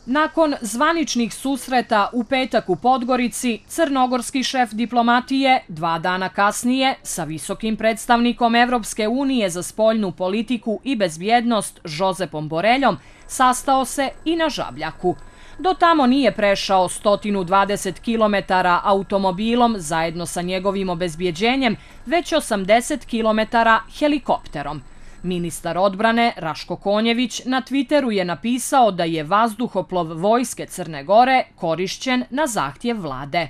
Nakon zvaničnih susreta u petak u Podgorici, crnogorski šef diplomatije 2 dana kasnije sa visokim predstavnikom Evropske unije za spoljnu politiku i bezbjednost Josepom Boreljom sastao se i na Žabljaku. Do tamo nije prešao 120 km automobilom zajedno sa njegovim obezbjeđenjem, već 80 km helikopterom. Ministar odbrane Raško Konjević na Twitteru je napisao da je vazduhoplov Vojske Crne Gore korišćen na zahtjev vlade.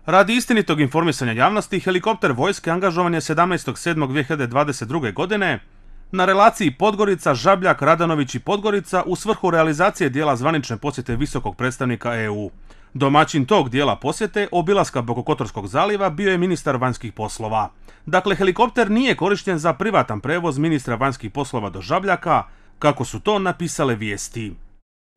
Radi istinitog informisanja javnosti, helikopter vojske angažovan je 17.7.2022. godine na relaciji Podgorica, Žabljak, Radanović i Podgorica u svrhu realizacije dijela zvanične posjete visokog predstavnika EU. Domaćin tog dijela posjete, obilaska Bokokotorskog zaliva, bio je ministar vanjskih poslova. Dakle, helikopter nije korišten za privatan prevoz ministra vanjskih poslova do Žabljaka, kako su to napisale vijesti.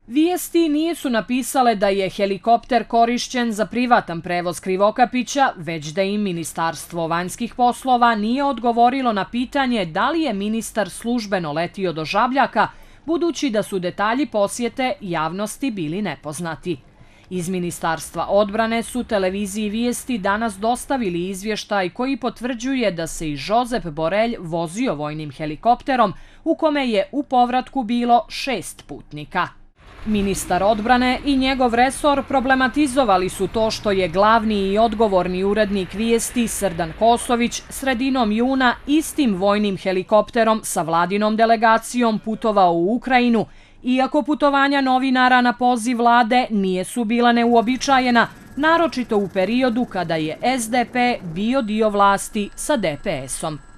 Vijesti nisu napisale da je helikopter korišćen za privatan prevoz Krivokapića, već da im Ministarstvo vanjskih poslova nije odgovorilo na pitanje da li je ministar službeno letio do Žabljaka, budući da su detalji posjete javnosti bili nepoznati. Iz Ministarstva odbrane su televiziji Vijesti danas dostavili izvještaj koji potvrđuje da se i Josep Borelj vozio vojnim helikopterom, u kome je u povratku bilo 6 putnika. Ministar odbrane i njegov resor problematizovali su to što je glavni i odgovorni urednik Vijesti Srdan Kosović sredinom juna istim vojnim helikopterom sa vladinom delegacijom putovao u Ukrajinu, iako putovanja novinara na poziv vlade nisu bila neuobičajena, naročito u periodu kada je SDP bio dio vlasti sa DPS-om.